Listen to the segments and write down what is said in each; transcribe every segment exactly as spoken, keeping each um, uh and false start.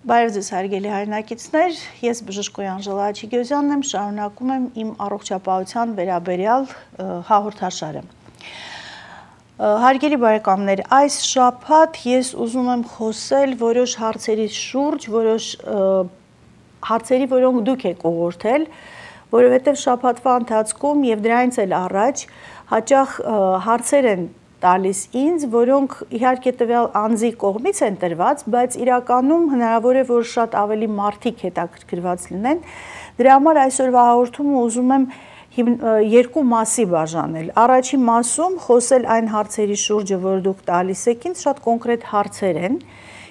Բարև ձեզ հարգելի հայրենակիցներ, ես բժիշկ Անժելա Աչիկոյանն եմ, շարունակում եմ իմ առողջապահության վերաբերյալ հաղորդաշարը։ Հարգելի բարեկամներ, այս շաբաթ ես ուզում եմ խոսել որոշ հարցերի շուրջ, որոշ հարցերի, որոնք դուք եք ուղղորդել, որովհետև շաբաթվա ընթացքում եւ դրանից էլ առաջ հաճախ հարցեր են տալիս ինձ, որոնք իհարկե տվյալ անձի կողմից են տրված, բայց իրականում հնարավոր է, որ շատ ավելի մարդիկ հետաքրքրված լինեն։ Դրա համար այսօրվա հաղորդումը ուզում եմ երկու մասի բաժանել։ Առաջին մասում խոսել այն հարցերի շուրջը, որ դուք տալիս եք ինձ, շատ կոնկրետ հարցեր են,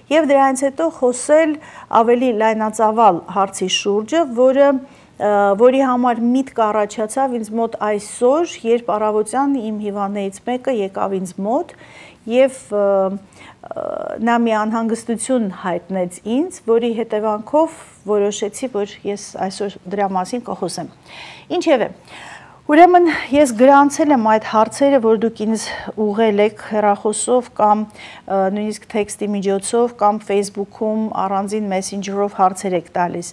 եւ դրանից հետո խոսել ավելի լայնածավալ հարցի շուրջը, որը որի համար միտք առաջացավ ինձ մոտ այսօր, երբ առավոտյան իմ հիվանդներից մեկը եկավ ինձ մոտ եւ նա մի անհանգստություն հայտնեց ինձ, որի հետևանքով որոշեցի, որ ես այսօր դրա մասին կխոսեմ։ Ինչևէ, ուրեմն ես գրանցել եմ այդ հարցերը, որ դուք ինձ ուղղել եք հեռախոսով կամ նույնիսկ տեքստի միջոցով կամ Facebook-ում առանձին Messenger-ով հարցեր եք տալիս։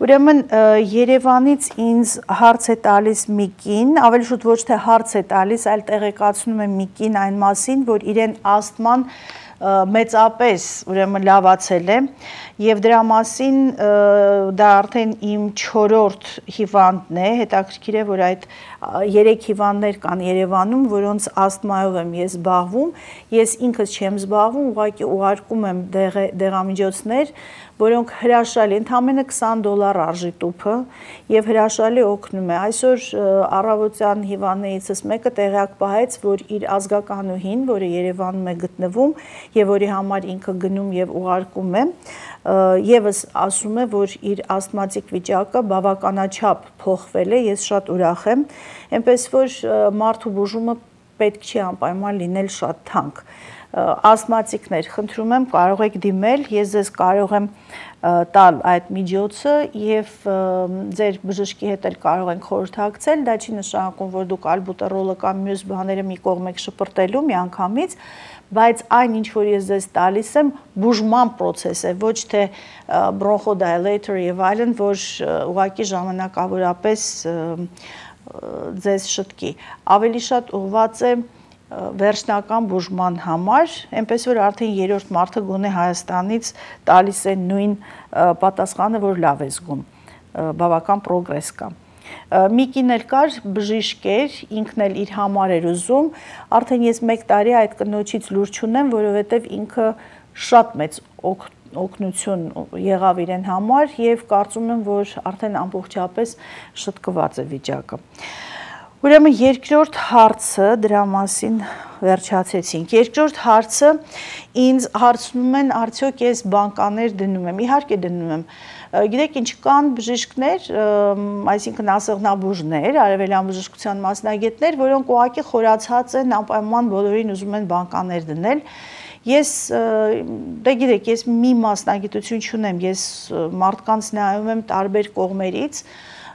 Ուրեմն Երևանից ինձ հարց է տալիս մի կին, ավելի շուտ ոչ թե հարց է տալիս, այլ տեղեկացնում է մի կին այն մասին, որ իրեն ասթման մեծապես ուրեմն լավացել է եւ դրա մասին դա արդեն իմ չորրորդ հիվանդն է, հետաքրքիր է, որ այդ երեք հիվանդներ կան Երևանում, որոնց ասթմայով եմ ես զբաղվում, ես ինքս չեմ զբաղվում, ուղղակի ուղարկում եմ դեղամիջոցներ, որոնք հրաշալի, ընդամենը քսան դոլար արժի տուփը եւ հրաշալի օգնում է։ Այսօր առավոտյան հիվանդներիցս մեկը տեղյակ պահեց, որ իր ազգականուհին, որը Երևանում է գտնվում եւ որի համար ինքը գնում եւ ուղարկում է, եւս ասում է, որ իր ասթմատիկ վիճակը բավականաչափ փոխվել է, ես շատ ուրախ եմ, այնպես որ մարդու բուժումը պետք չի անպայման լինել շատ թանկ։ Ասթմատիկներ, խնդրում եմ, կարող եք դիմել, ես ձեզ կարող եմ տալ այդ միջոցը եւ ձեր բժշկի հետ էլ կարող ենք խորհրդակցել, դա չի նշանակում, որ դուք ալբուտերոլը կամ մյուս բաները մի կողմ եք շպրտելու միանգամից, բայց այն ինչ որ ես ձեզ տալիս եմ, բուժման process է, ոչ թե bronchodilator եւ այլն, որ ուղղակի ժամանակավորապես ձեզ շտկի։ Ավելի շատ ուղղված է վերջնական բուժման համար, այնպես որ արդեն երրորդ մարդը գոնե Հայաստանից տալիս է նույն պատասխանը, որ լավ է զգում, բավական պրոգրես կա։ Մի կին էլ կար, բժիշկ էր, ինքն էլ իր համար էր ուզում, արդեն ես մեկ տարի այդ կնոջից լուր չունեմ, որովհետև ինքը շատ մեծ օգնություն եղավ իրեն համար եւ կարծում եմ, որ արդեն ամբողջապես շտկված է վիճակը։ Ուրեմն երկրորդ հարցը, դրա մասին վերջացեցինք, երկրորդ հարցը ինձ հարցնում են, արդյոք ես բանկաներ դնում եմ, իհարկե դնում եմ, գիտեք ինչ կան բժիշկներ, այսինքն ասեղնաբուժներ, արևելյան բժշկության մասնագետներ, որոնք ուղղակի խորացած են, անպայման բոլորին ուզում են բանկաներ դնել, ես, դե գիտեք, ես մի մասնագիտություն չունեմ, ես մարդկանց նայում եմ տարբեր կողմերից,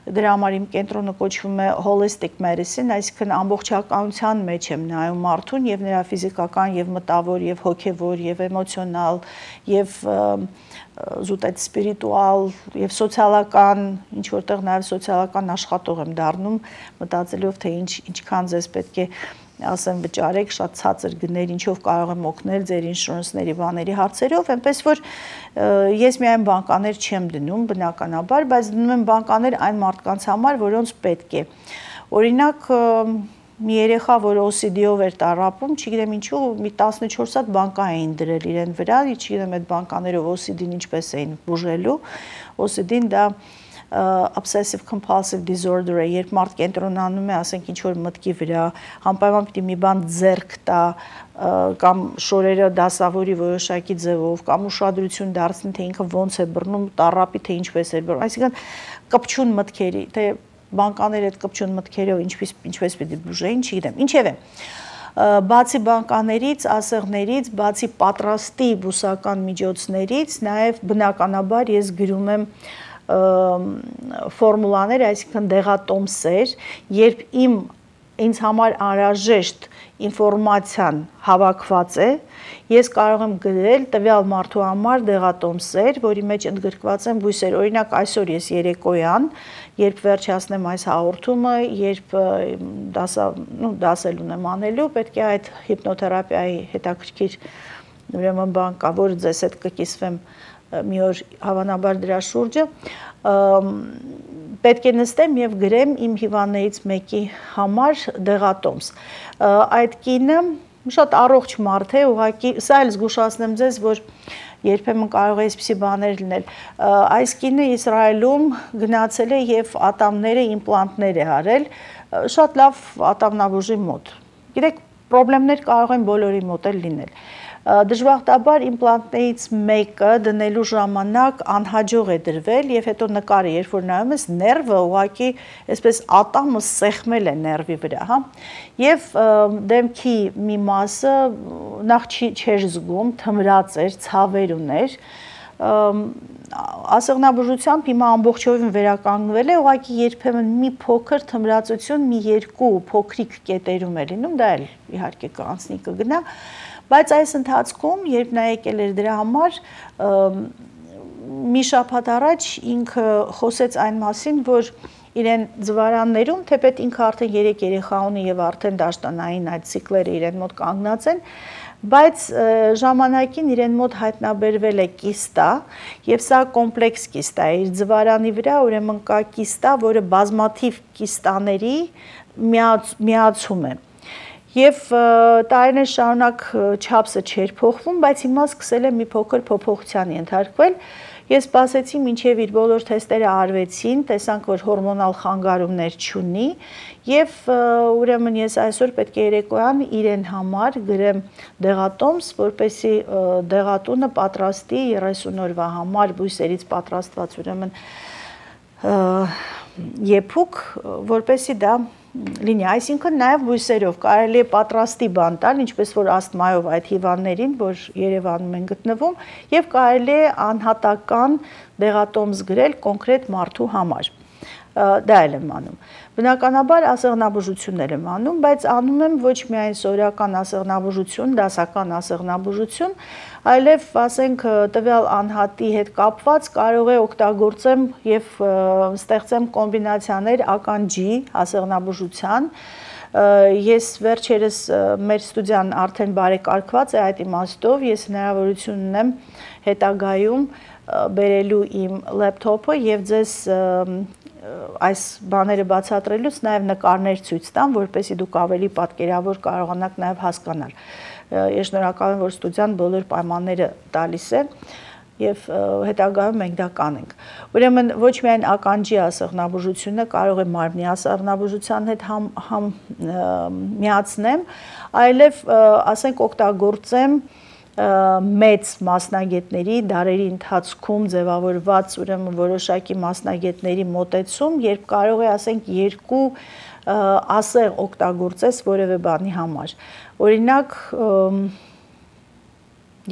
դրա համար իմ կենտրոնը կոչվում է holistic medicine, այսինքն ամբողջականության մեջ եմ նայում մարդուն եւ նրա ֆիզիկական եւ մտավոր եւ հոգեվոր եւ էմոցիոնալ եւ զուտ այդ սպիրիտուալ եւ սոցիալական, ինչ որտեղ նաեւ սոցիալական աշխատող եմ դառնում, մտածելով թե ինչ ինչքան ձեզ պետք է ասեմ վճարեք շատ ցածր գներ, ինչով կարող եմ օգնել ձեր ինշուրանսների բաների հարցերով, այնպես որ ես միայն բանկաներ չեմ դնում բնականաբար, բայց դնում եմ բանկաներ այն մարդկանց համար, որոնց պետք է։ Օրինակ մի երեխա, որ O C D-ով էր տառապում, չգիտեմ ինչու, մի տասնչորս հատ բանկա էին դրել իրեն վրա, չգիտեմ այդ բանկաներով O C D-ն ինչպես էին բուժելու, O C D-ն դա obsessive compulsive disorder է, երբ մարդ կենտրոնանում է, ասենք ինչ-որ մտքի վրա, անպայման պիտի մի բան ձեռք տա, կամ շորերը դասավորի որոշակի ձևով, կամ ուշադրություն դարձնի, թե ինքը ոնց է բռնում, տառապի, թե ինչպես է բռնում, այսինքն կպչուն մտքերի, թե բանկաները այդ կպչուն մտքերով ինչպես ինչպես պիտի բուժեին, չգիտեմ, ինչևէ, բացի բանկաներից, ասեղներից, բացի պատրաստի բուսական միջոցներից, նաև բնականաբար ես գրում եմ ֆորմուլաներ, այսինքն դեղատոմսեր, երբ իմ ինձ համար անհրաժեշտ ինֆորմացիան հավաքված է, ես կարող եմ գրել տվյալ մարդու համար դեղատոմսեր, որի մեջ ընդգրկված են բույսեր, օրինակ այսօր ես երեկոյան, երբ վերջացնեմ այս հաղորդումը, երբ դասա, նու, դասել ունեմ անելու, պետք է այդ հիպնոթերապիայի հետաքրքիր ուրեմն բան կա, որ ձեզ հետ կկիսվեմ մի օր հավանաբար դրա շուրջը, պետք է նստեմ և գրեմ իմ հիվանդներից մեկի համար դեղատոմս։ Այդ կինը շատ առողջ մարդ է, ուղղակի, սա էլ զգուշացնեմ ձեզ, որ երբեմն կարող է այսպիսի բաներ լինել։ Այս կինը Իսրայելում գնացել է և ատամները իմպլանտներ է արել, շատ լավ ատամնաբուժի մոտ։ Գիտեք, պրոբլեմներ կարող են բոլորի մոտ էլ լինել։ Դժբախտաբար իմպլանտներից մեկը դնելու ժամանակ անհաջող է դրվել և հետո նկարը, երբ որ նայում ես, ներվը ուղղակի այսպես ատամը սեղմել է ներվի վրա, հա։ Եվ դեմքի մի մասը նախ չէր զգում, թմրած էր, ցավեր ուներ, ասեղնաբուժությամբ հիմա ամբողջովին վերականգնվել է, ուղղակի երբեմն մի փոքր թմրածություն մի երկու փոքրիկ կետերում է լինում, դա էլ իհարկե կանցնի կգնա, բայց այս ընթացքում, երբ նա եկել էր դրա համար, մի շաբաթ առաջ ինքը խոսեց այն մասին, որ իրեն ձվարաններում, թեպետ ինքը արդեն երեք երեխա ունի և արդեն դաշտանային այդ ցիկլերը իրեն մոտ կանգնած են, բայց ժամանակին իրեն մոտ հայտնաբերվել է կիստա և սա կոմպլեքս կիստա է, իր ձվարանի վրա ուրեմն կա կիստա, որը բազմաթիվ կիստաների միացում է։ Եվ տարիներ շարունակ չափսը չէր փոխվում, բայց հիմա սկսել է մի փոքր փոփոխության ենթարկվել։ Ես սպասեցի մինչև իր բոլոր թեստերը արվեցին, տեսանք, որ հորմոնալ խանգարումներ չունի և ուրեմն ես այսօր պետք է երեկոյան իրեն համար գրեմ դեղատոմս, որպեսզի դեղատունը պատրաստի երեսուն օրվա համար բույսերից պատրաստված ուրեմն եփուկ, որպեսզի դա լինի, այսինքն նաև բույսերով կարելի է պատրաստի բան տալ, ինչպես որ ասթմայով այդ հիվանդներին, որ Երևանում են գտնվում, և կարելի է անհատական դեղատոմս գրել կոնկրետ մարդու համար։ Դա էլ եմ անում։ Բնականաբար ասեղնաբուժություններ եմ անում, բայց անում եմ ոչ միայն սովորական ասեղնաբուժություն, դասական ասեղնաբուժություն, այլև, ասենք, տվյալ անհատի հետ կապված կարող է օգտագործեմ և ստեղծեմ կոմբինացիաներ ականջի ասեղնաբուժության։ Ես վերջերս մեր ստուդիան արդեն բարեկարգված է այդ իմաստով, ես հնարավորություն ունեմ հետագայում բերելու իմ լեփթոփը և ձեզ այս բաները բացատրելուց նաև նկարներ ցույց տամ, որպեսզի դուք ավելի պատկերավոր կարողանաք նաև հասկանալ։ Ես շնորհակալ եմ, որ ստուդիան բոլոր պայմանները տալիս է և հետագայում մենք դա կանենք։ Ուրեմն ոչ միայն ականջի ասեղնաբուժությունը կարող է մարմնի ասեղնաբուժության հետ համ, համ միացնեմ, այլև ասենք օգտագործեմ մեծ մասնագետների դարերի ընթացքում ձևավորված ուրեմն որոշակի մասնագետների մոտեցում, երբ կարող է ասենք երկու ասեղ օգտագործես որևէ բանի համար։ Օրինակ,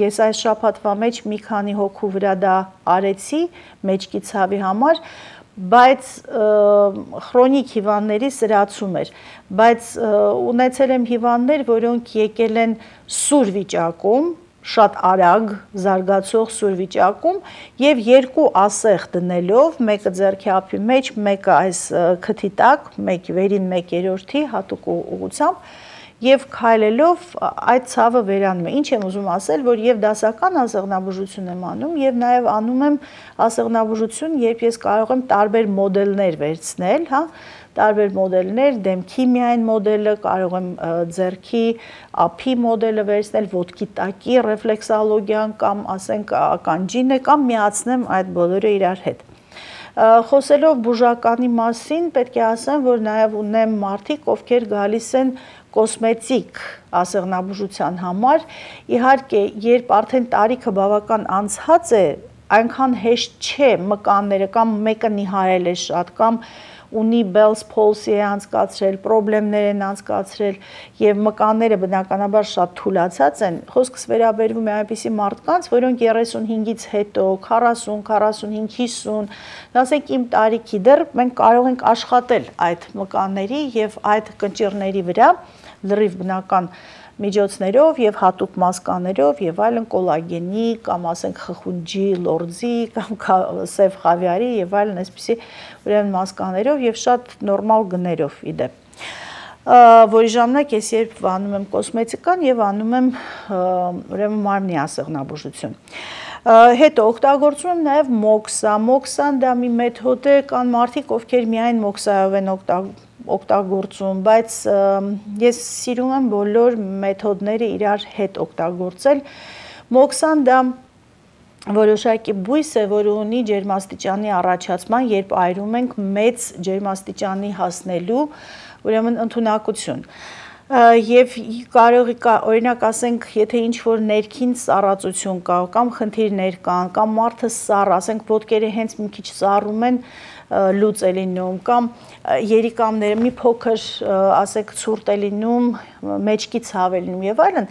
ես այս շաբաթվա մեջ մի քանի հոգու վրա դա արեցի մեջքի ցավի համար, բայց քրոնիկ հիվանդների սրացում էր, բայց ունեցել եմ հիվանդներ, որոնք եկել են սուր վիճակում, շատ արագ զարգացող սուր վիճակում և երկու ասեղ դնելով, մեկը ձեռքի ափի մեջ, մեկը այս քթի տակ, մեկ վերին մեկ երրորդի հատուկ ուղղությամբ և քայլելով այդ ցավը վերանում է։ Ինչ եմ ուզում ասել, որ և դասական ասեղնաբուժություն եմ անում և նաև անում եմ ասեղնաբուժություն, երբ ես կարող եմ տարբեր մոդելներ վերցնել, հա, տարբեր մոդելներ, դեմքի միայն մոդելը, կարող եմ ձեռքի ափի մոդելը վերցնել, ոտքի տակի ռեֆլեքսոլոգիան կամ ասենք ականջինը կամ միացնեմ այդ բոլորը իրար հետ։ Խոսելով բուժականի մասին, պետք է ասեմ, որ նաև ունեմ մարդիկ, ովքեր գալիս են կոսմետիկ ասեղնաբուժության համար, իհարկե, երբ արդեն տարիքը բավական անցած է, այնքան հեշտ չէ մկանները կամ մեկը նիհարել է շատ կամ ունի Bell's palsy է անցկացրել, խնդիրներ են անցկացրել եւ մկանները բնականաբար շատ թուլացած են, խոսքս վերաբերվում է այնպիսի մարդկանց, որոնք երեսունհինգից հետո, քառասուն, քառասունհինգ, հիսուն, ասենք իմ տարիքի դեռ մենք կարող ենք աշխատել այդ մկանների եւ այդ կնճիռների վրա լրիվ բնական միջոցներով եւ հատուկ մասկաներով եւ այլն կոլագենի կամ ասենք խխունջի, լորձի կամ սև խավիարի եւ այլն այսպիսի ուրեմն մասկաներով եւ շատ նորմալ գներով իդեպ որի ժամանակ ես երբ անում եմ կոսմետիկան եւ անում եմ ուրեմն մարմնի ասեղնաբուժություն հետո օգտագործում եմ նաեւ մոքսա մոքսան դա մի մեթոդ է կան մարդիկ ովքեր միայն մոքսայով են օգտագործում օգտագործում, բայց ես սիրում եմ բոլոր մեթոդները իրար հետ օգտագործել։ Մոքսան դա որոշակի բույս է, որը ունի ջերմաստիճանի առաջացման, երբ այրում ենք մեծ ջերմաստիճանի հասնելու, ուրեմն ընդունակություն։ Եվ կարող է օրինակ ասենք, եթե ինչ-որ ներքին սառածություն կա, կամ խնդիրներ կան, կամ մարդը սառ, ասենք ոտքերը հենց մի քիչ սառում են, լուծ է լինում կամ երիկամները մի փոքր ասեք ցուրտ է լինում, մեջքի ցավ է լինում եւ այլն,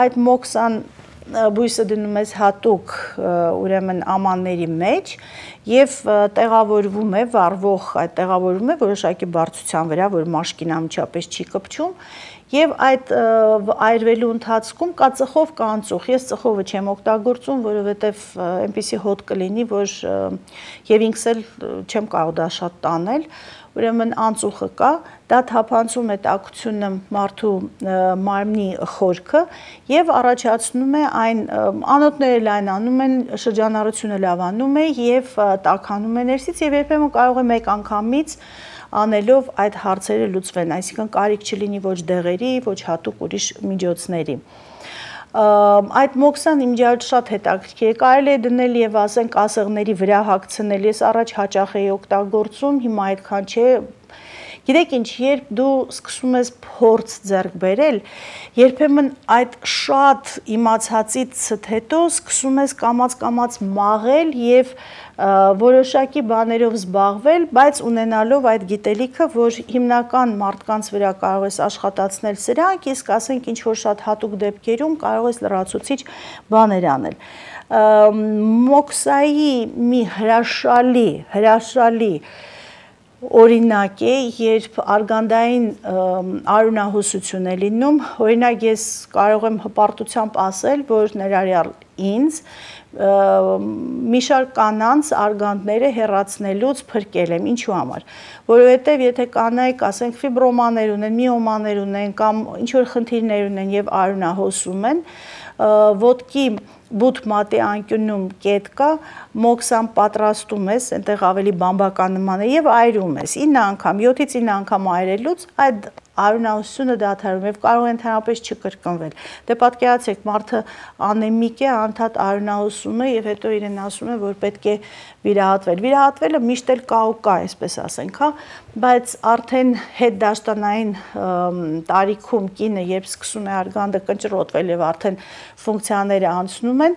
այդ մոքսան բույսը դնում ես հատուկ ուրեմն ամանների մեջ եւ տեղավորվում է վառվող այդ տեղավորվում է որոշակի բարձրության վրա, որ մաշկին անմիջապես չի կպչում եւ այդ այրվելու ընթացքում կա ծխով կա անծուխ։ Ես ծխովը չեմ օգտագործում, որովհետեւ այնպեսի հոտ կլինի, որ եւ ինքս էլ չեմ կարող դա շատ տանել։ Ուրեմն անծուխը կա, դա թափանցում է տաքությունը մարդու մարմնի խորքը եւ առաջացնում է այն անոթները լայնանում են, շրջանառությունը լավանում է եւ տաքանում է ներսից եւ երբեմն կարող է մեկ անգամից անելով այդ հարցերը լուծվեն, այսինքն կարիք չլինի ոչ դեղերի, ոչ հատուկ ուրիշ միջոցների։ Այդ մոքսան իմ ջարդ շատ հետաքրքիր է, կարելի է դնել եւ ասենք ասեղների վրա հագցնել, ես առաջ հաճախ էի օգտագործում, հիմա այդքան չէ։ Գիտեք ինչ, երբ դու սկսում ես փորձ ձեռք բերել, երբեմն այդ շատ իմացածից հետո սկսում ես կամաց-կամաց մաղել եւ որոշակի բաներով զբաղվել, բայց ունենալով այդ գիտելիքը, որ հիմնական մարդկանց վրա կարող ես աշխատացնել սրանք, իսկ ասենք ինչ որ շատ հատուկ դեպքերում կարող ես լրացուցիչ բաներ անել։ Մոքսայի մի հրաշալի, հրաշալի օրինակ է, երբ արգանդային արյունահոսություն է լինում, օրինակ ես կարող եմ հպարտությամբ ասել, որ ներառյալ ինձ մի շարք կանանց արգանդները հեռացնելուց փրկել եմ, ինչու համար, որովհետև եթե կանայք, ասենք, ֆիբրոմաներ ունեն, միոմաներ ունեն կամ ինչ-որ խնդիրներ ունեն եւ արյունահոսում են, ոտքի բութ մատի անկյունում կետ կա, մոքսան պատրաստում ես, այնտեղ ավելի բամբականնման է եւ այրում ես, ինը անգամ, յոթից ինը անգամ այրելուց այդ արյունահոսությունը դադարում եւ կարող է ընդհանրապես չկրկնվել։ Դե պատկերացրեք, մարդը անեմիկ է, անդադ արյունահոսում է եւ հետո իրեն ասում է, որ պետք է վիրահատվել։ Վիրահատվելը միշտ էլ կա ու կա, այսպես ասենք, հա, բայց արդեն հետդաշտանային տարիքում կինը երբ սկսում է արգանդը կնճռոտվել եւ արդեն ֆունկցիաները անցնում են,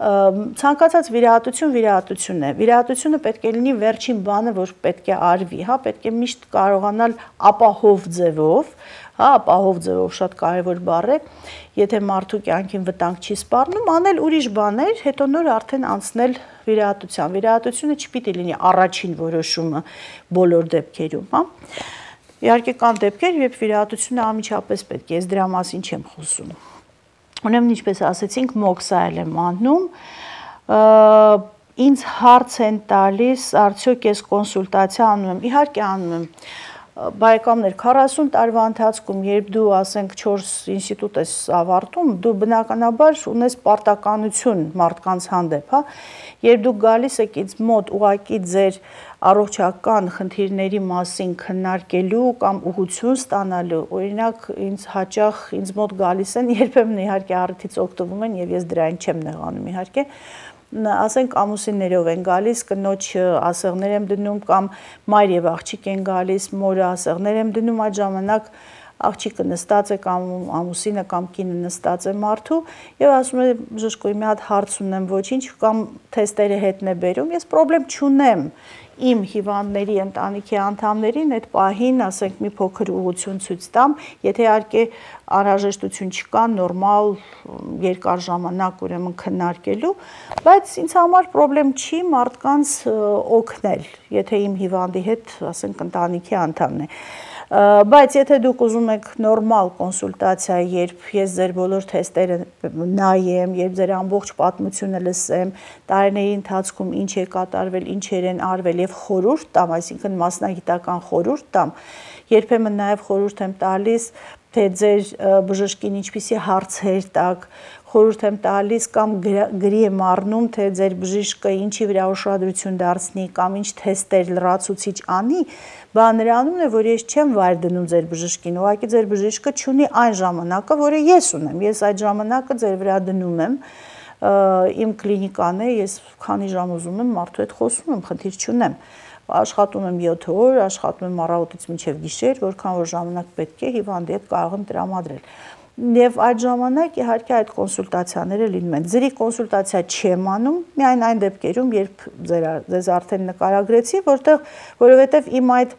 ցանկացած վիրահատություն վիրահատություն է։ Վիրահատությունը պետք է լինի վերջին բանը, որ պետք է արվի, հա, պետք է միշտ կարողանալ ապահով ձևով, հա, ապահով ձևով շատ կարևոր բառ է, եթե մարդու կյանքին վտանգ չի սպառնում, անել ուրիշ բաներ, հետո նոր արդեն անցնել վիրահատության։ Վիրահատությունը չպիտի լինի առաջին որոշումը բոլոր դեպքերում, հա։ Իհարկե կան դեպքեր, երբ վիրահատությունը անմիջապես պետք է, ես դրա մասին չեմ խոսում։ Ուրեմն ինչպես ասեցինք, մոքսայել եմ անում, ինձ հարց են տալիս, արդյոք ես կոնսուլտացիա անում եմ, իհարկե անում եմ, բարեկամներ, քառասուն տարվա ընթացքում, երբ դու ասենք չորս ինստիտուտ ես ավարտում, դու բնականաբար ունես պարտականություն մարդկանց հանդեպ, հա, երբ դու գալիս եք ինձ մոտ ուղղակի ձեր առողջական խնդիրների մասին քննարկելու կամ ուղղություն ստանալու, օրինակ ինձ հաճախ ինձ մոտ գալիս են, երբեմն իհարկե առիթից օգտվում են եւ ես դրային չեմ նեղանում իհարկե, ասենք ամուսիններով են գալիս, կնոջ ասեղներ եմ դնում կամ մայր եւ աղջիկ են գալիս, մորը ասեղներ եմ դնում, այդ ժամանակ աղջիկը նստած է կամ ամուսինը կամ կինը նստած է մարդու եւ ասում է բժշկուհի մի հատ հարց ունեմ, ոչինչ, կամ թեստերը հետն է բերում, ես պրոբլեմ չունեմ իմ հիվանդների ընտանիքի անդամներին այդ պահին, ասենք, մի փոքր ուղղություն ցույց տամ, եթե իհարկե անհրաժեշտություն չկա նորմալ երկար ժամանակ ուրեմն քննարկելու, բայց ինձ համար պրոբլեմ չի մարդկանց օգնել, եթե իմ հիվանդի հետ, ասենք, ընտանիքի անդամն է։ Բայց եթե դուք ուզում եք նորմալ կոնսուլտացիա, երբ ես ձեր բոլոր թեստերը նայեմ, երբ ձեր ամբողջ պատմությունը լսեմ, տարիների ընթացքում ինչ է կատարվել, ինչեր են արվել եւ խորհուրդ տամ, այսինքն մասնագիտական խորհուրդ տամ, երբեմն նաեւ խորհուրդ եմ տալիս, թե ձեր բժշկին ինչպիսի հարցեր տակ, խորհուրդ եմ տալիս կամ գրի եմ առնում, թե ձեր բժիշկը ինչի վրա ուշադրություն դարձնի կամ ինչ թեստեր լրացուցիչ անի, բան նրանում է, որ ես չեմ վայր դնում ձեր բժշկին, ուղղակի ձեր բժիշկը չունի այն ժամանակը, որը ես ունեմ, ես այդ ժամանակը ձեր վրա դնում եմ, իմ կլինիկան է, ես քանի ժամ ուզում եմ մարդու հետ խոսում եմ, խնդիր չունեմ, աշխատում եմ յոթ օր, աշխատում եմ առավոտից մինչև գիշեր, որքան որ ժամանակ պետք է հիվանդի հետ կարող եմ տրամադրել։ Եվ այդ ժամանակ իհարկե այդ կոնսուլտացիաները լինում են։ Ձերի կոնսուլտացիա չեմ անում, միայն այն դեպքերում, երբ ձեզ արդեն նկարագրեցի, որտեղ որովհետև իմ այդ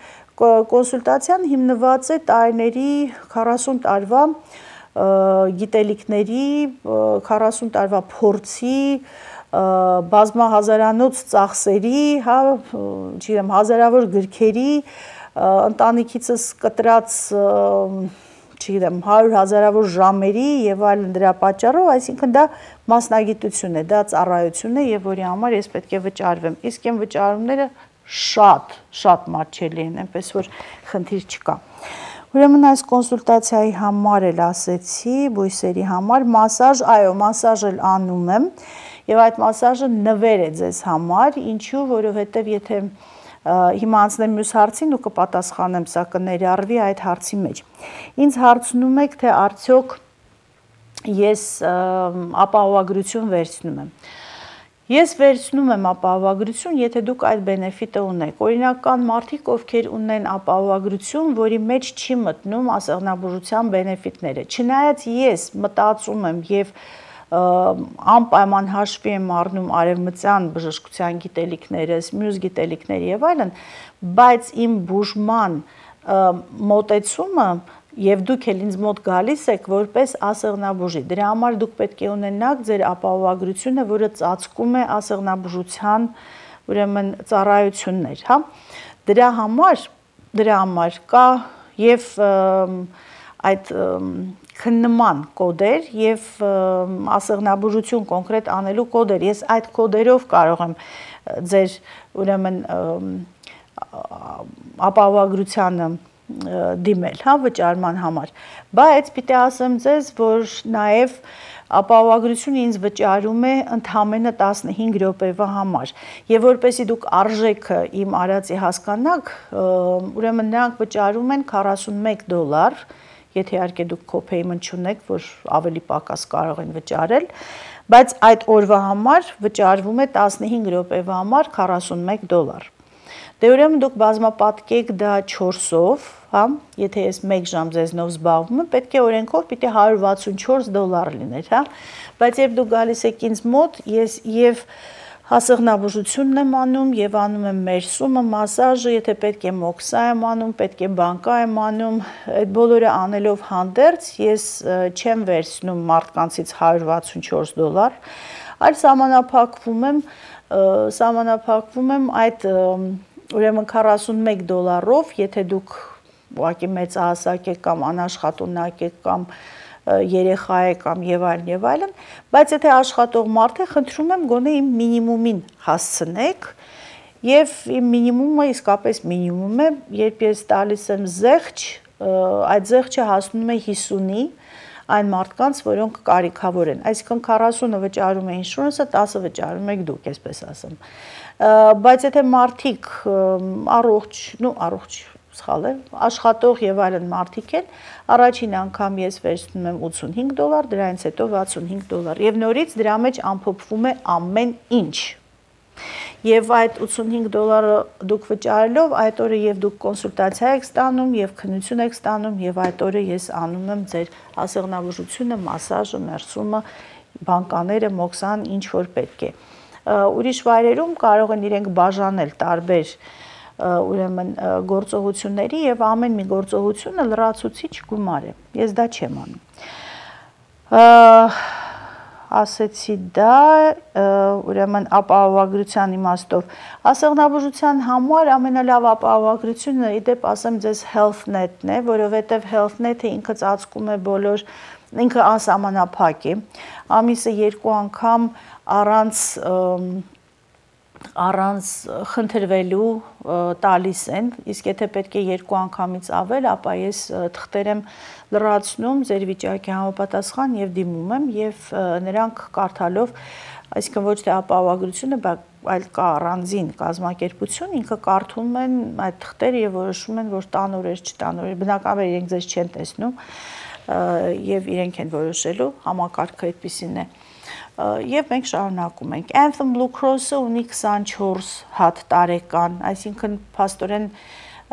կոնսուլտացիան հիմնված է տարիների քառասուն տարվա գիտելիքների, քառասուն տարվա փորձի, բազմահազարանոց ծախսերի, հա, չգիտեմ, հազարավոր գրքերի, ընտանիքիցս կտրած չգիտեմ, հարյուր հազարավոր ժամերի եւ այլն դրա պատճառով, այսինքն դա մասնագիտություն է, դա ծառայություն է եւ որի համար ես պետք է վճարվեմ։ Իսկ այն վճարումները շատ, շատ մատչելի են, այնպես որ խնդիր չկա։ Ուրեմն այս կոնսուլտացիայի համար էլ ասեցի, բույսերի համար, մասաժ, այո, մասաժ էլ անում եմ եւ այդ մասաժը նվեր է ձեզ համար, ինչու, որովհետեւ եթե հիմա անցնեմ մյուս հարցին ու կպատասխանեմ, սա կներառվի այդ հարցի մեջ։ Ինձ հարցնում եք, թե արդյոք ես ապահովագրություն վերցնում եմ։ Ես վերցնում եմ ապահովագրություն, եթե դուք այդ բենեֆիտը ունեք։ Օրինակ կան մարդիկ, ովքեր ունեն ապահովագրություն, որի մեջ չի մտնում ասեղնաբուժության բենեֆիտները։ Չնայած ես մտածում եմ եւ անպայման հաշվի եմ առնում արևմտյան բժշկության գիտելիքներս, մյուս գիտելիքներ եւ այլն, բայց իմ բուժման մոտեցումը եւ դուք էլ ինձ մոտ գալիս եք որպես ասեղնաբուժի։ Դրա համար դուք պետք է ունենաք ձեր ապահովագրությունը, որը ծածկում է ասեղնաբուժության, ուրեմն ծառայություններ, հա։ Դրա համար, դրա համար կա եւ այդ քննման կոդեր եւ ասեղնաբուժություն կոնկրետ անելու կոդեր։ Ես այդ կոդերով կարող եմ ձեր ուրեմն ապահովագրությանը դիմել, հա, վճարման համար։ Բայց պիտի ասեմ ձեզ, որ նաեւ ապահովագրությունը ինձ վճարում է ընդամենը տասնհինգ րոպեվա համար։ Եվ որպեսզի դուք արժեքը իմ արածի հասկանաք, ուրեմն նրանք վճարում են քառասունմեկ դոլար, եթե իհարկե դուք co-payment չունեք, որ ավելի պակաս կարող են վճարել, բայց այդ օրվա համար վճարվում է տասնհինգ րոպեվա համար քառասունմեկ դոլար։ Դե ուրեմն դուք բազմապատկեք դա չորսով, հա, եթե ես մեկ ժամ ձեզնով զբաղվում եմ, պետք է օրենքով պիտի հարյուր վաթսունչորս դոլար լիներ, հա, բայց երբ դուք գալիս եք ինձ մոտ, ես եւ ասեղնաբուժությունն եմ անում եւ անում եմ մերսումը, մասաժը, եթե պետք է մոքսա եմ անում, պետք է բանկա եմ անում, այդ բոլորը անելով հանդերձ ես չեմ վերցնում մարդկանցից հարյուր վաթսունչորս դոլար, այլ սահմանափակվում եմ, սահմանափակվում եմ այդ ուրեմն քառասունմեկ դոլարով, եթե դուք ուղղակի մեծահասակ եք կամ անաշխատունակ եք կամ երեխա է կամ եւ այլն եւ այլն, բայց եթե աշխատող մարդ է, խնդրում եմ գոնե իմ մինիմումին հասցնեք եւ իմ մինիմումը իսկապես մինիմում է, երբ ես տալիս եմ զեղչ, այդ զեղչը հասնում է հիսունի այն մարդկանց, որոնք կարիքավոր են, այսինքն քառասունը վճարում է ինշուրանսը, տասը վճարում եք դուք, այսպես ասեմ, բայց եթե մարդիկ առողջ, նու առողջ սխալ է, աշխատող եւ այլն մարդիկ են, առաջին անգամ ես վերցնում եմ ութսունհինգ դոլար, դրանից հետո վաթսունհինգ դոլար եւ նորից դրա մեջ ամփոփվում է ամեն ինչ։ եւ այդ ութսունհինգ դոլարը դուք վճարելով այդ օրը եւ դուք կոնսուլտացիա եք ստանում եւ քննություն եք ստանում եւ այդ օրը ես անում եմ ձեր ասեղնաբուժությունը, մասաժը, մերսումը, բանկաները, մոքսան, ինչ որ պետք է։ Ուրիշ վայրերում կարող են իրենք բաժանել տարբեր ուրեմն գործողությունների եւ ամեն մի գործողությունը լրացուցիչ գումար է։ Ես դա չեմ անում։ Ասեցի դա, ուրեմն ապահովագրության իմաստով ասեղնաբուժության համար ամենալավ ապահովագրությունը իդեպ ասեմ ձեզ HealthNet-ն է, որովհետև HealthNet-ը ինքը ծածկում է բոլոր, ինքը անսահմանափակ է, ամիսը երկու անգամ առանց առանց խնդրվելու տալիս են, իսկ եթե պետք է երկու անգամից ավել, ապա ես թղթեր եմ լրացնում ձեր վիճակի համապատասխան եւ դիմում եմ եւ նրանք կարդալով, այսինքն ոչ թե ապահովագրությունը, այլ կա առանձին կազմակերպություն, ինքը կարդում են այդ թղթերը եւ որոշում են, որ տանորեր, չտանորեր, բնականաբար իրենք ձեզ չեն տեսնում եւ իրենք են որոշելու, համակարգը այդպեսին է։ Եվ մենք շարունակում ենք։ Anthem Blue Cross-ը ունի քսանչորս հատ տարեկան, այսինքն փաստորեն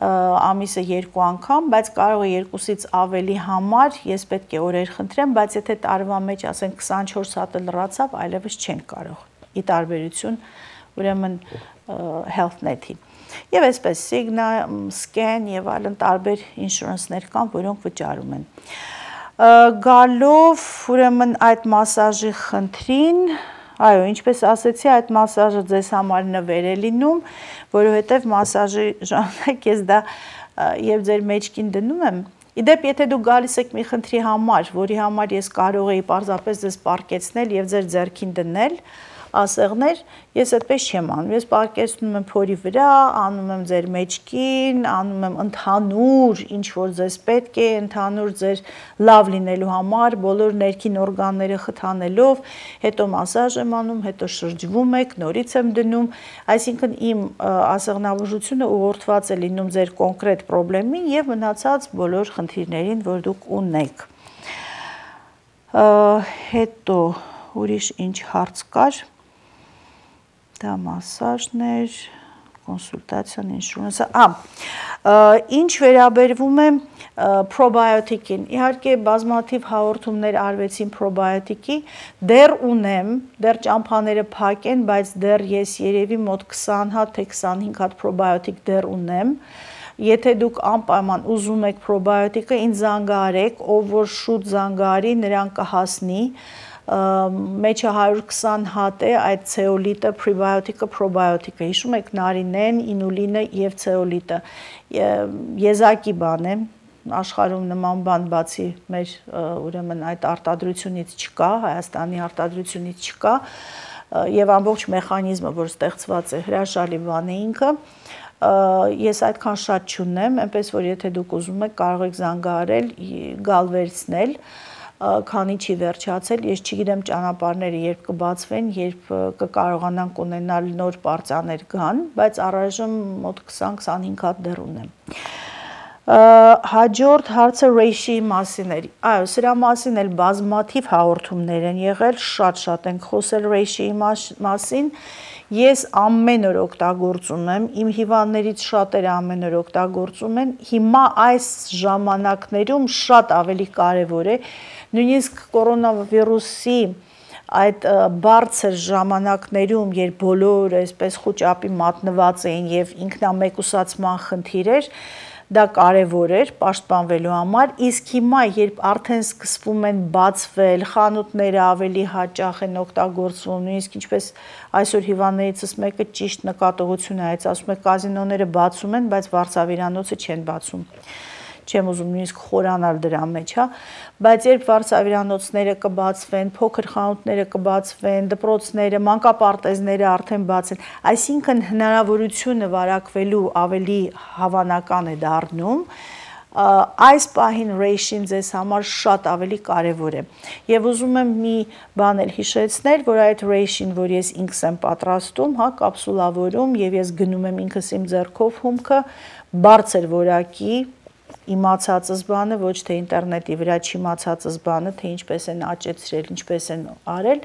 ամիսը երկու անգամ, բայց կարող է երկուսից ավելի համար, ես պետք է օրեր խնդրեմ, բայց եթե տարվա մեջ ասենք քսանչորս հատը լրացավ, այլևս չեն կարող։ Ի տարբերություն ուրեմն HealthNet-ի։ Եվ այսպես Cigna, Scan եւ այլն տարբեր ինշուրանսներ կան, որոնք վճարում են։ Գալով ուրեմն այդ մասաժի խնդրին, այո, ինչպես ասեցի, այդ մասաժը ձեզ համար նվեր է լինում, որովհետև մասաժի ժամանակ ես դա եւ ձեր մեջքին դնում եմ։ Իդեպ, եթե դուք գալիս եք մի խնդրի համար, որի համար ես կարող էի պարզապես ձեզ պարկեցնել եւ ձեր ձեռքին դնել ասեղներ, ես այդպես չեմ անում, ես պարկեցնում եմ փորի վրա, անում եմ ձեր մեջքին, անում եմ ընդհանուր, ինչ որ ձեզ պետք է, ընդհանուր ձեր լավ լինելու համար, բոլոր ներքին օրգանները խթանելով, հետո մասաժ եմ անում, հետո շրջվում եք, նորից եմ դնում, այսինքն իմ ասեղնաբուժությունը ուղղորդված է լինում ձեր կոնկրետ պրոբլեմին եւ մնացած բոլոր խնդիրներին, որ դուք ունեք։ Հետո ուրիշ ինչ հարց կար։ Դա մասաժն էր, կոնսուլտացիան, ինշուրանսը, ինչ վերաբերվում է պրոբիոտիկին, իհարկե բազմաթիվ հաղորդումներ արվեցին պրոբիոտիկի, դեռ ունեմ, դեռ ճամփաները փակ են, բայց դեռ ես երևի մոտ քսան հատ, թե քսանհինգ հատ պրոբիոտիկ դեռ ունեմ, եթե դուք անպայման ուզում եք պրոբիոտիկը, ինձ զանգահարեք, ով որ շուտ զանգահարի, նրան կհասնի, մեջը հարյուր քսան հատ է այդ ցեոլիտը, պրեբիոտիկը, պրոբիոտիկը, հիշում եք նարինեն, ինուլինը եւ ցեոլիտը, եզակի բան է, աշխարհում նման բան բացի մեր ուրեմն այդ արտադրությունից չկա, Հայաստանի արտադրությունից չկա եւ ամբողջ մեխանիզմը, որ ստեղծված է, հրաշալի բան է ինքը, ես այդքան շատ չունեմ, այնպես որ եթե դուք ուզում եք կարող եք զանգահարել, գալ վերցնել, քանի չի վերջացել, ես չգիտեմ ճանապարհները երբ կբացվեն, երբ կկարողանանք ունենալ նոր պարծաներ գան, բայց առայժմ մոտ քսան քսանհինգ հատ դեռ ունեմ։ Հաջորդ հարցը ռեյշիի մասին էր, այո, սրա մասին էլ բազմաթիվ հաղորդումներ են եղել, շատ-շատ ենք խոսել ռեյշիի մասին, ես ամեն օր օգտագործում եմ, իմ հիվանդներից շատերը ամեն օր օգտագործում են, հիմա այս ժամանակներում շատ ավելի կարևոր է, նույնիսկ կորոնավիրուսի այդ բարձր ժամանակներում, երբ բոլոր այսպես խուճապի մատնված էին եւ ինքնամեկուսացման խնդիր էր, դա կարևոր էր պաշտպանվելու համար, իսկ հիմա երբ արդեն սկսվում են բացվել, խանութները ավելի հաճախ են օգտագործվում, նույնիսկ ինչպես այսօր հիվանդներիցս մեկը ճիշտ նկատողություն է, ասում է կազինոները բացում են, բայց վարձավիրանոցը չեն բացում։ Չեմ ուզում նույնիսկ խորանալ դրա մեջ, հա, բայց երբ վարձավիրանոցները կբացվեն, փոքր խանութները կբացվեն, դպրոցները, մանկապարտեզները արդեն բաց են, այսինքն հնարավորությունը վարակվելու ավելի հավանական է դառնում, այս պահին ռեյշին ձեզ համար շատ ավելի կարևոր է եւ ուզում եմ մի բան էլ հիշեցնել, որ այդ ռեյշին, որ ես ինքս եմ պատրաստում, հա, կապսուլավորում եւ ես գնում եմ ինքս իմ ձեռքով հումքը, բարձր որակի իմացածս բանը, ոչ թե ինտերնետի վրա չիմացածս բանը, թե ինչպես են աճեցրել, ինչպես են արել,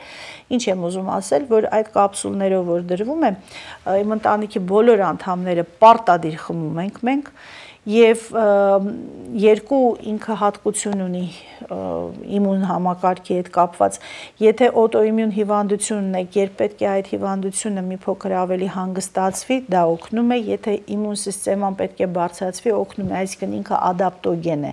ինչ եմ ուզում ասել, որ այդ կապսուլներով որ դրվում է, իմ ընտանիքի բոլոր անդամները պարտադիր խմում ենք մենք, եւ երկու ինքը հատկություն ունի իմուն համակարգի հետ կապված, եթե օտոիմուն հիվանդություն ունեք, երբ պետք է այդ հիվանդությունը մի փոքր ավելի հանգստացվի, դա օգնում է, եթե իմուն սիստեման պետք է բարձրացվի, օգնում է, այսինքն ինքը ադապտոգեն է։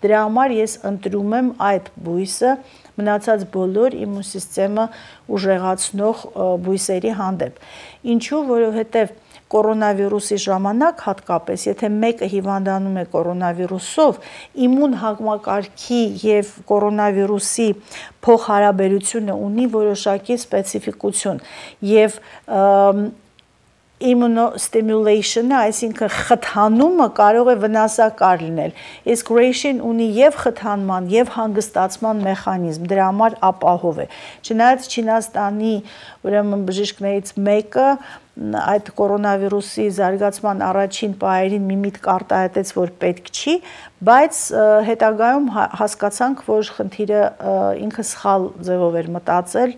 Դրա համար ես ընտրում եմ այդ բույսը մնացած բոլոր իմուն սիստեմը ուժեղացնող բույսերի հանդեպ։ Ինչու, որովհետև կորոնավիրուսի ժամանակ հատկապես, եթե մեկը հիվանդանում է կորոնավիրուսով, իմուն համակարգի եւ կորոնավիրուսի փոխհարաբերությունը ունի որոշակի սպეციფიკություն եւ immunostimulation-ը, այսինքն խթանումը կարող է վնասակար լինել։ Իսկ reishi-ն ունի եւ խթանման, եւ հանգստացման մեխանիզմ, դրա համար ապահով է։ Չնայած Չինաստանի ուրեմն բժիշկներից մեկը այդ կորոնավիրուսի զարգացման առաջին պահերին մի միտք արտահայտեց, որ պետք չի, բայց հետագայում հասկացանք, որ խնդիրը ինքը սխալ ձևով էր մտածել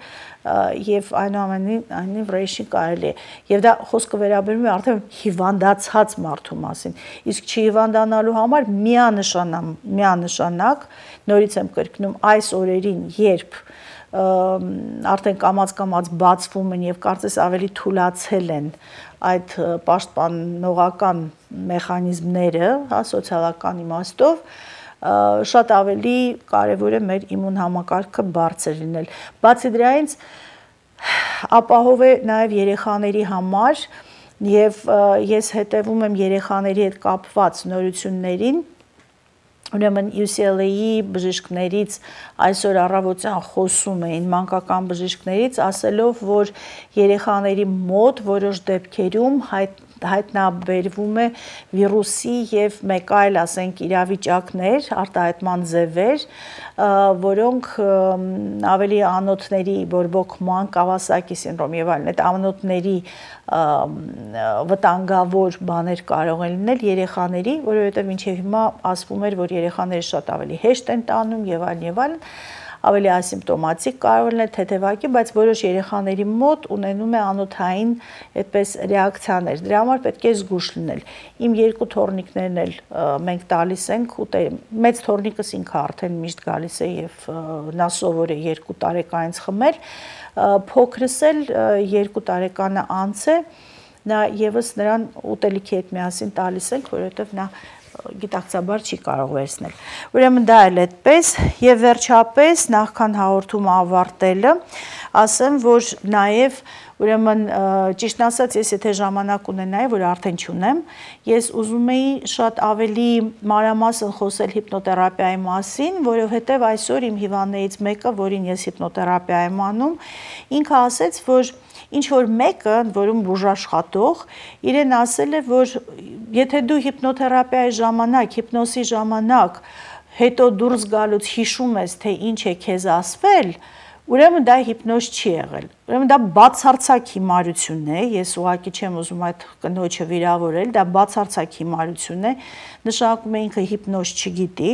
եւ այնուամենայնիվ reishi կարելի է։ Եվ դա խոսքը վերաբերում է արդեն հիվանդացած մարդու մասին։ Իսկ չհիվանդանալու համար միանշանակ, միանշանակ, նորից եմ կրկնում, այս օրերին, երբ արդեն կամաց-կամաց բացվում են եւ կարծես ավելի թուլացել են այդ պաշտպանողական մեխանիզմները, հա, սոցիալական իմաստով, շատ ավելի կարևոր է մեր իմուն համակարգը բարձր լինել։ Բացի դրանից ապահով է նաեւ երեխաների համար եւ ես հետևում եմ երեխաների հետ կապված նորություններին։ Ուրեմն U C L A-ի բժիշկներից այսօր առավոտյան խոսում էին մանկական բժիշկներից, ասելով, որ երեխաների մոտ որոշ դեպքերում հայտ հայտնաբերվում է վիրուսի եւ մեկ այլ, ասենք, իրավիճակներ, արտահայտման ձևեր, որոնք ավելի անոթների բորբոքման, Կավասակի սինդրոմ եւ այլն, այդ անոթների վտանգավոր բաներ կարող են լինել երեխաների, որովհետեւ մինչեւ հիմա ասվում էր, որ երեխաները շատ ավելի հեշտ են տանում եւ այլն եւ այլն, ավելի ասիմպտոմատիկ կարող լինել թեթևակի, բայց որոշ երեխաների մոտ ունենում է անոթային այդպես ռեակցիաներ։ Դրա համար պետք է զգուշ լինել։ Իմ երկու թոռնիկներն էլ մենք տալիս ենք, մեծ թոռնիկս ինքը արդեն միշտ գալիս է եւ նա սովոր է երկու տարեկանից խմել, փոքրս էլ երկու տարեկանը անց է, նա եւս նրան ուտելիքի հետ միասին տալիս ենք, որովհետեւ նա գիտակցաբար չի կարող վերցնել։ Ուրեմն դա էլ այդպես եւ վերջապես նախքան հաղորդումը ավարտելը ասեմ, որ նաեւ ուրեմն ճիշտ ասած ես եթե ժամանակ ունենայի, որ արդեն չունեմ, ես ուզում էի շատ ավելի մանրամասն խոսել հիպնոթերապիայի մասին, որովհետեւ այսօր իմ հիվանդներից մեկը, որին ես հիպնոթերապիա եմ անում, ինքը ասեց, որ ինչ որ մեկը, որում բուժաշխատող, իրեն ասել է, որ եթե դու հիպնոթերապիայի ժամանակ, հիպնոսի ժամանակ հետո դուրս գալուց հիշում ես, թե ինչ է քեզ ասվել, ուրեմն դա հիպնոզ չի եղել։ Ուրեմն դա բացարձակ հիմարություն է, ես ուղղակի չեմ ուզում այդ կնոջը վիրավորել, դա բացարձակ հիմարություն է, նշանակում է ինքը հիպնոզ չգիտի,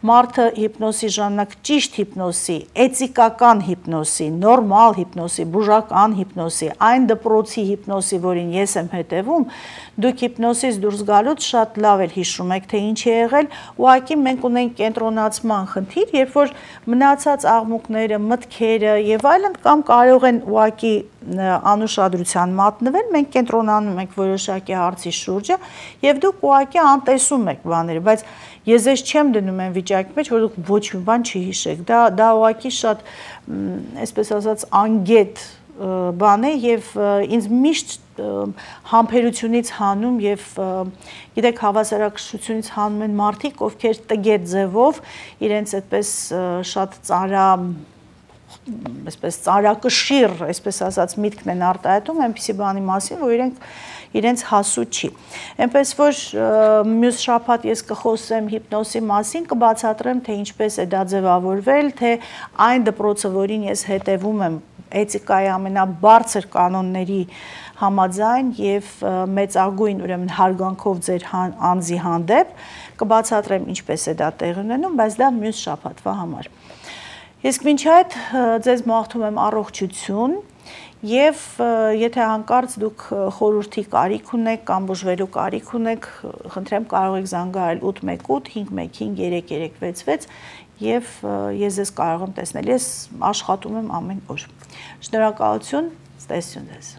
մարդը հիպնոսի ժամանակ ճիշտ հիպնոսի, էթիկական հիպնոսի, նորմալ հիպնոսի, բուժական հիպնոսի, այն դպրոցի հիպնոսի, որին ես եմ հետևում, դուք հիպնոսից դուրս գալուց շատ լավ էլ հիշում եք, թե ինչ է եղել, ուղղակի մենք ունենք կենտրոնացման խնդիր, երբ որ մնացած աղմուկները, մտքերը եւ այլն կամ կարող են ուղղակի անուշադրության մատնվել, մենք կենտրոնանում ենք որոշակի հարցի շուրջը եւ դուք ուղղակի անտեսում եք բաները, բայց ես ես չեմ դնում այն վիճակի մեջ, որ դուք ոչ մի բան չհիշեք։ Դա դա ուղղակի շատ, այսպես ասած, անգետ բան է եւ ինձ միշտ համբերությունից հանում եւ գիտեք հավասարակշռությունից հանում են մարդիկ, ովքեր տգետ ձևով իրենց այդպես շատ ծանրա այսպես ծարակշիռ, այսպես ասած, միտքն են արտահայտում այնպիսի բանի մասին, որ իրենք իրենց հասու չի։ Այնպես որ մյուս շաբաթ ես կխոսեմ հիպնոսի մասին, կբացատրեմ, թե ինչպես է դա ձևավորվել, թե այն դպրոցը, որին ես հետևում եմ, էթիկայի ամենաբարձր կանոնների համաձայն եւ մեծագույն ուրեմն հարգանքով ձեր անձի հանդեպ կբացատրեմ ինչպես է դա տեղի ունենում, բայց դա մյուս շաբաթվա համար։ Իսկ մինչ այդ ձեզ մաղթում եմ առողջություն եւ եթե հանկարծ դուք խորհրդի կարիք ունեք կամ բուժվելու կարիք ունեք, խնդրեմ կարող եք զանգահարել ութ մեկ ութ հինգ մեկ հինգ երեք երեք վեց վեց եւ ես ձեզ կարող եմ տեսնել, ես աշխատում եմ ամեն օր։ Շնորհակալություն, ցտեսություն ձեզ։